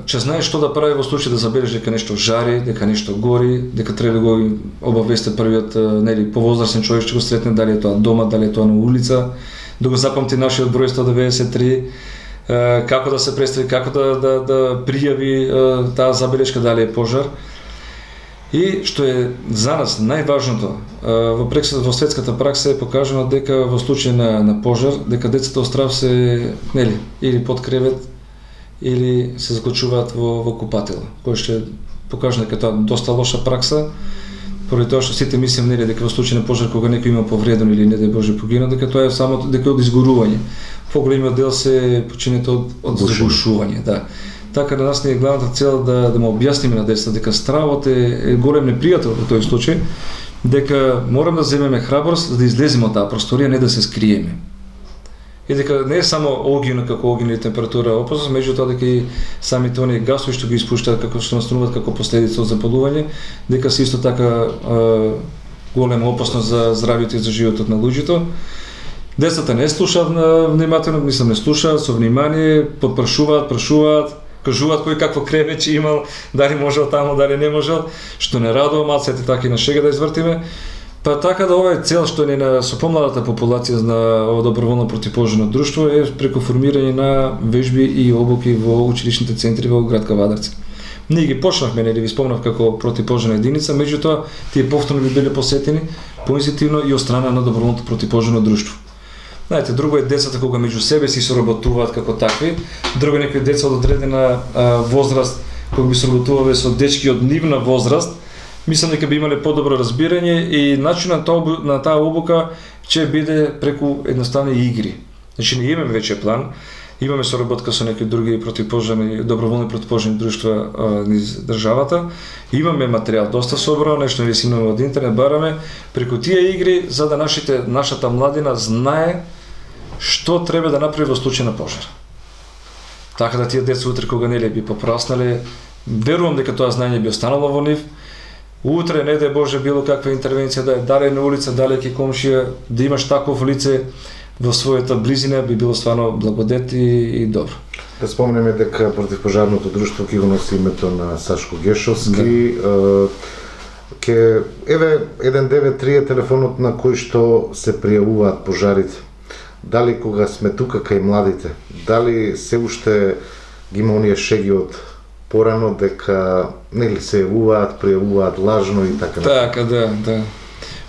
че знае што да прави во случај да забележи дека нешто жари, дека нешто гори, дека треба да го обавесте првиот, нели, повозрасен човек што го сретне, дали е тоа дома, дали е тоа на улица, да го запамти нашиот број сто деветдесет и три, како да се представи, како да да да пријави таа забелешка дали е пожар. И што е за нас најважното, во прекса во светската пракса е покажано дека во случај на на пожар, дека децата од страв се, нели, или под кревет или се заклучуваат во, во купател, кој што покажа дека тоа доста лоша пракса, поради тоа што сите мислим, нели, дека во случај на пожар кога некој има повреден или не дај Боже погинал, дека тоа е само дека од изгорување. Поголемиот дел се починете од од загушување, да. Така да нас не е главната цел да да му објасниме на децата дека стравот е, е голем непријател во тој случај, дека мораме да земеме храброст за да излеземе од таа просторија, не да се скриеме. И дека не е само огино како огино и температура опасност, меѓутоа дека и самите оние гасови што ги испуштаат како што настануваат како последица од запалување, дека се исто така е, голема опасност за здравјето и за животот на луѓето. Децата не слушаат внимателно, мислам не слушаат со внимание, подпрашуваат, прашуваат, кажуваат кој какво кревеќе имал, дали можел таму, дали не можел, што не радува, малце така и на шега да извртиме. Па така да ова е цел што ни на со помладата популација на ова доброволно противпожарно друштво е преку формирање на вежби и обуки во училишните центри во град Кавадарци. Ние ги почнавме, нели ви спомнав како противпожарна единица, меѓутоа тие повторно би биле посетени позитивно и од страна на доброволното противпожарно друштво. Знаете, друго е децата кога меѓу себе си соработуваат како такви, друго некои деца од одредена а, возраст кога би соработувале со дечки од нивна возраст. Мислам дека би имале подобро разбирање и начинот на таа обука ќе биде преку едноставни игри. Значи ние имаме веќе план, имаме соработка со некои други противпожарни, доброволни противпожарни друштва низ државата, имаме материјал доста собрано, нешто ние си имаме од интернет, бараме преку тие игри за да нашите нашата младина знае што треба да направи во случај на пожар. Така да тие деца утре кога нели би попраснале, верувам дека тоа знаење би останало во нив. Утре, не дај Боже, било каква интервенција да е, дали на улица, дали ке комшија, да имаш таков лице во својата близина, би било стварно благодет и, и добро. Да спомнеме дека противпожарното друштво ќе го носи името на Сашко Гешовски. Да. Ке еве еден девет три е телефонот на кој што се пријавуваат пожарите. Дали кога сме тука кај младите, дали се уште ги има оние шеги од порано дека нели се јавуваат, пријавуваат лажно и така натаму. Така, да, да.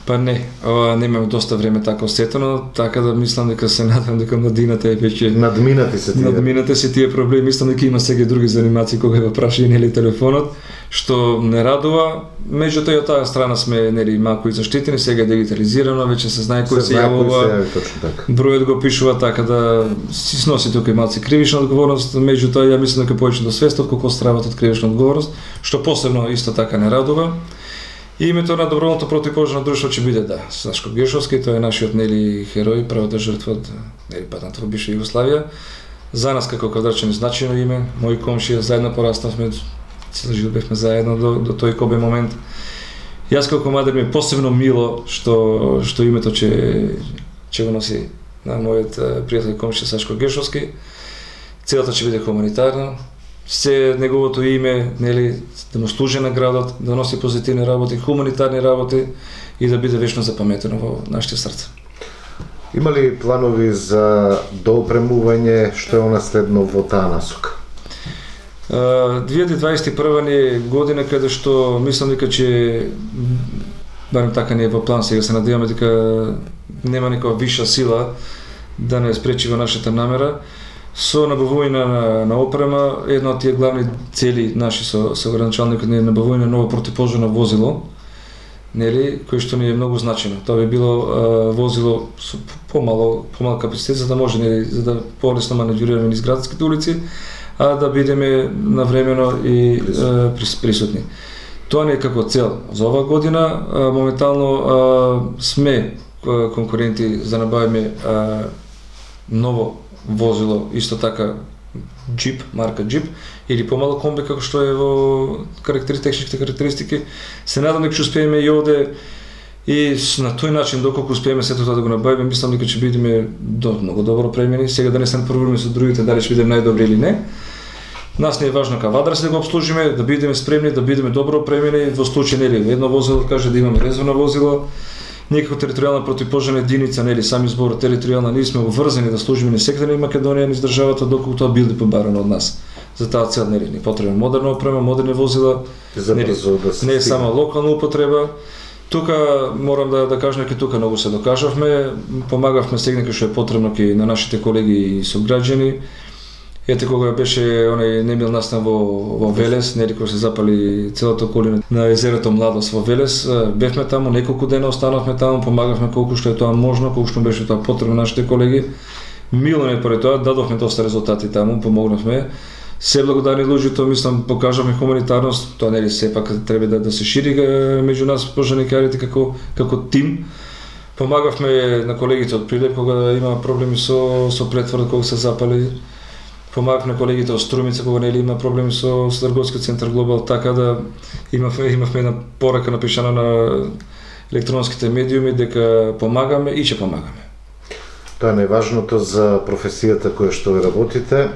Па не, ова немаме доста време така осетено, така да мислам дека се надам дека младината е веќе надминати се тие. Надминати се тие проблеми, мислам дека има сега други занимации кога го праша нели телефонот, што не радува. Меѓутоа и од таа страна сме нели малку и заштитени, сега е дигитализирано, веќе се знае кој се јавува. Бројот го пишува, така да си сноси тука и малку кривична одговорност, меѓутоа ја мислам дека повеќе до свест отколку стравот од кривична одговорност, што посебно исто така не радува. И името на доброволното противпожарно друштво ќе биде да Сашко Гешовски, тој е нашиот нели херој, правата жртва од нели патната во бивша Југославија. За нас како квадрачани значено име, мои комшија заедно пораснавме, цел живот бевме заедно до, до тој кобе момент. Јас како младер ми е посебно мило што што името ќе ќе го носи на мојот пријател и комшија Сашко Гешовски. Целата ќе биде хуманитарна. Се неговото име, нели, да му служи на градот, да носи позитивни работи, хуманитарни работи и да биде вечно запаметено во нашите срца. Има ли планови за доопремување, што е наследно во таа насока? две илјади дваесет и прва ни е година каде што мислам дека ќе, барем така не е во план, сега се надеваме дека нема некоја виша сила да не спречи во нашата намера. Со набавување на, на опрема, една од тие главни цели наши со, со градоначалникот е набавување на ново противпожарно возило, нели, кој што ни е многу значено. Тоа би било а, возило со помало, помал капацитет, за да може, нели, за да полесно маневрираме низ градските улици, а да бидеме навремено и а, присутни. Тоа не е како цел за оваа година. А, моментално а, сме а, конкуренти за да набавиме а, ново возило, исто така джип, марка джип, или помало комби како што е во карактеристичните карактеристики. Се надам дека ќе успееме и овде и на тој начин доколку успееме сето тоа да го набавиме, мислам дека ќе бидеме до многу добро премени. Сега да не се напрваме со другите дали ќе бидеме најдобри или не. Нас не е важно кавадарс да го обслужиме, да бидеме спремни, да бидеме добро премени, во случај нели едно возило каже да имаме резервно возило. Ние како територијална противпожарна единица, нели сами збор територијална, ние сме обврзани да служиме низ секторот на Македонија, низ државата, доколку тоа биде побарано од нас. За таа цел нели ни потребна модерна опрема, модерни возила, нели, да не е само локална употреба. Тука морам да да кажам дека тука многу се докажавме, помагавме сегнека што е потребно ки на нашите колеги и сограѓани. Ете кога беше онај немил настан во во Велес, нели кога се запали целата околина на езерото Младост во Велес, бевме таму неколку дена, останавме таму, помагавме колку што е тоа можно, колку што беше тоа потребно нашите колеги. Мило не поради тоа, дадовме доста резултати таму, помогнавме. Се благодарни луѓето, мислам, покажавме хуманитарност, тоа нели сепак треба да, да се шири меѓу нас пожарникарите како како тим. Помагавме на колегите од Прилеп кога има проблеми со со претворот кога се запали. Помагавме колегите од Струмица кога нели има проблеми со, со трговскиот центар Глобал, така да имавме имавме една порака напишана на електронските медиуми дека помагаме и ќе помагаме. Тоа е најважното за професијата која што ви работите.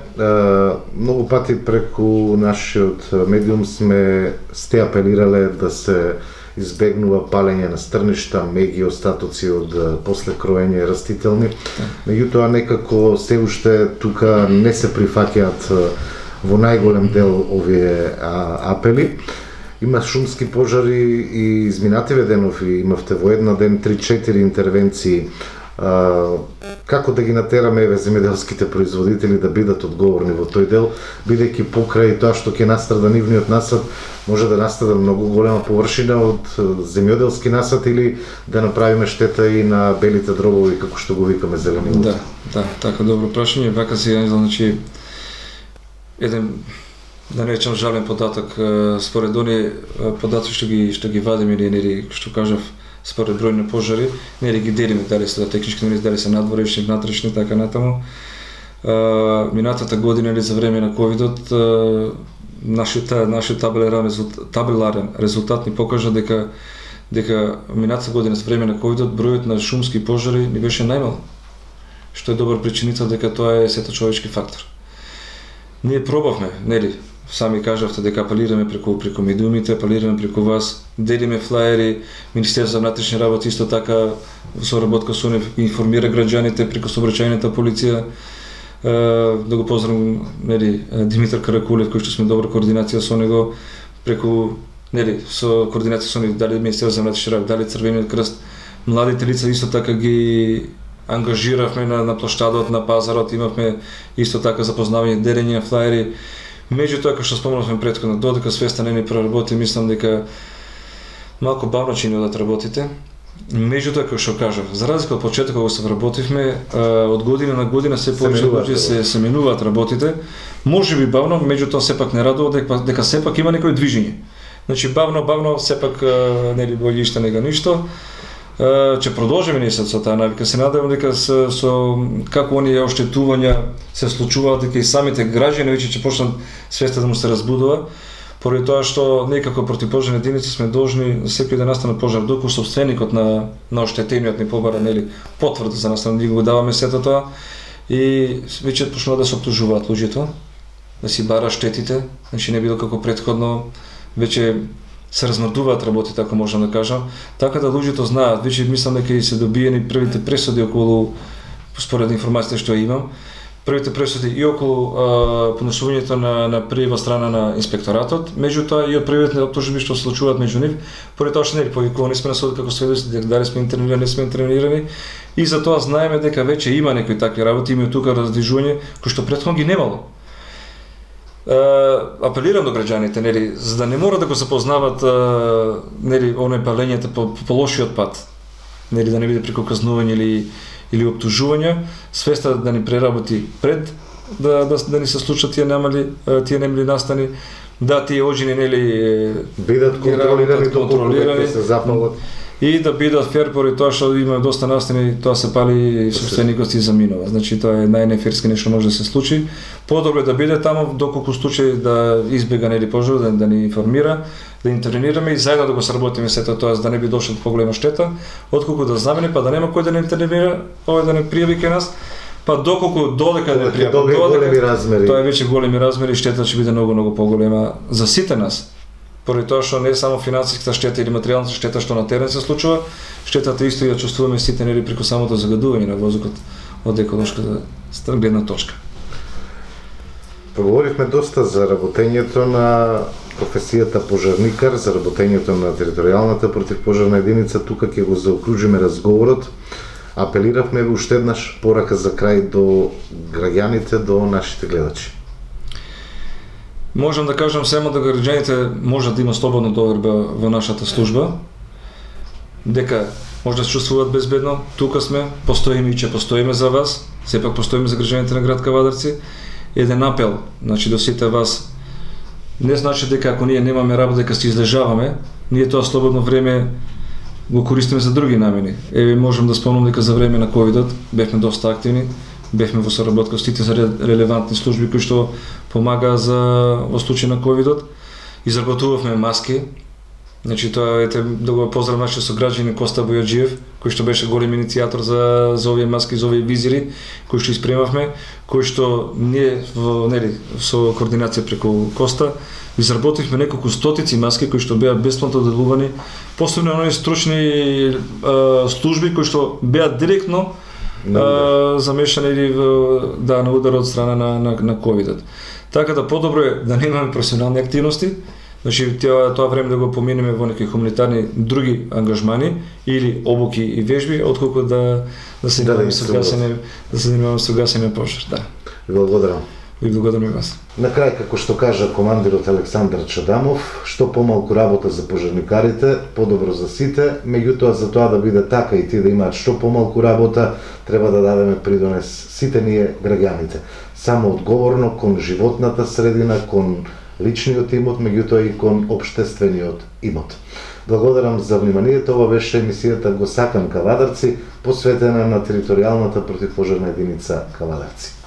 Многу пати преку нашиот медиум сме сте апелирале да се избегнува палење на стрништа, меги, остатоци од после кроење растителни. Меѓутоа некако се уште тука не се прифаќаат во најголем дел овие апели. Има шумски пожари и изминативе денови, имавте во една ден три-четири интервенции. Uh, како да ги натераме еве земјоделските производители да бидат одговорни во тој дел, бидејќи покрај тоа што ќе настрада нивниот насад, може да настрада многу голема површина од земјоделски насад или да направиме штета и на белите дробови, како што го викаме зелени луѓе. Да, да, така добро прашање. Вака се значи еден да не речам жален податок, според оние податоци што ги што ги вадиме или што кажав според број на пожари, нели ги делиме дали се технички, дали се надворешни, внатрешни, така натаму. А, минатата година или за време на ковидот, нашиот нашиот табеларен резултат, табеларен резултат ни покажа дека дека минатата година за време на ковидот бројот на шумски пожари ни беше најмал, што е добар причинител дека тоа е сето човечки фактор. Ние пробавме, нели, сами кажавте дека апелираме преку преку медиумите, апелираме преку вас, делиме флаери, Министерството за внатрешни работи исто така со работка со нив информира граѓаните преку сообраќајната полиција. Да го поздравам, нели, Димитар Каракулев, кој што сме добра координација со него, преку, нели, со координација со нив, дали Министерството за внатрешни работи, дали Црвениот крст, младите лица исто така ги ангажиравме на, на площадот, на пазарот, имавме исто така запознавање, делење на флаери. Меѓутоа, како што спомнавме претходно, додека свеста не ни проработи, мислам дека малку бавно ќе ни одат работите. Меѓутоа, како што кажав, за разлика од почетокот кога се вработивме, од година на година се повеќе луѓе се се менуваат работите. Можеби бавно, меѓутоа сепак не радува дека дека сепак има некој движење. Значи бавно бавно сепак нели боље иште нега ништо. Ќе продолжиме ние со таа навика. Се надевам дека со, со како оние оштетувања се случуваат, дека и самите граѓани веќе ќе почнат свеста да му се разбудува. Поради тоа што ние како противпожарни единици сме должни секој да настане пожар, доколку собственикот на на оштетениот ни побара, нели, потврда за нас, ние го даваме сето тоа и веќе почнува да се оптужуваат луѓето, да си бара штетите, значи не било како претходно, веќе се размрдуваат работите, ако можам да кажам, така да луѓето знаат. Веќе мислам дека и се добиени првите пресуди околу, според информациите што имам, првите пресуди и околу а, понесувањето на на пријава страна на инспекторатот, меѓутоа и од првите оптужби што се случуваат меѓу нив, поради тоа што нели повикувани сме на судот како сведоци, дека дали сме интервенирани, не сме интервенирани, и затоа знаеме дека веќе има некои такви работи, има тука раздвижување кои што претходно ги немало. Uh, апелирам до граѓаните, нели, за да не мора да го запознават uh, нели оној палењето по, по лошиот пат, нели, да не биде преку казнување или или оптужување, свеста да ни преработи пред да да, да ни се случат тие немали тие немали настани, да тие оџини, нели, бидат контролирани, контролирани се запалат и да бидат фер, поради тоа што има доста настани, тоа се пали и собственикот си заминува. Значи тоа е најнеферски нешто може да се случи. Подобро да биде таму доколку случај да избега, нели, пожар, да, да ни информира, да интервенираме и заедно да го сработиме сето тоа, за да не би дошло до поголема штета, отколку да знамени па да нема кој да не интервенира, овој да не пријави кај нас, па доколку додека не пријави, додека тоа е веќе големи размери, штета ќе биде многу многу поголема за сите нас. Поради тоа што не е само финансиската штета или материјалната штета што на терен се случува, штетата исто и ја чувствуваме сите, нели, преку самото загадување на воздухот од еколошката гледна точка. Поговоривме доста за работењето на професијата пожарникар, за работењето на територијалната противпожарна единица. Тука ќе го заокружиме разговорот. Апелиравме уште еднаш порака за крај до граѓаните, до нашите гледачи. Можам да кажам само да граѓаните можат да има слободна доверба во нашата служба, дека може да се чувствуваат безбедно. Тука сме, постоиме и ќе постоиме за вас, сепак постоиме за граѓаните на град Кавадарци. Еден апел, значи до сите вас, не значи дека ако ние немаме работа, дека се излежаваме, ние тоа слободно време го користиме за други намени. Еве можам да спомнам дека за време на ковидот бевме доста активни, бевме во соработка со сите за релевантни служби кои што помагаа за во случај на ковидот. Изработувавме маски. Значи тоа ете да го поздравам нашиот сограѓанин Коста Бојаджиев, кој што беше голем иницијатор за за овие маски, за овие визири кои што испремавме, кои што ние во, нели, со координација преку Коста изработивме неколку стотици маски кои што беа бесплатно доделувани, посебно на оние стручни а, служби кои што беа директно а, замешани или да на удар од страна на на, на ковидот. Така да подобро е да немаме професионални активности. Значи, тоа, тоа време да го поминеме во некои хуманитарни други ангажмани или обуки и вежби, отколку да да се занимаваме со гасење, да се занимаваме со гасење на пожар. Да. Ви благодарам. Ви благодарам и вас. На крај, како што кажа командирот Александар Чадамов, што помалку работа за пожарникарите, подобро за сите, меѓутоа за тоа да биде така и тие да имаат што помалку работа, треба да дадеме придонес сите ние граѓаните. Само одговорно кон животната средина, кон личниот имот, меѓутоа и кон општествениот имот. Благодарам за вниманието. Ова беше емисијата Го сакам Кавадарци, посветена на територијалната противпожарна единица Кавадарци.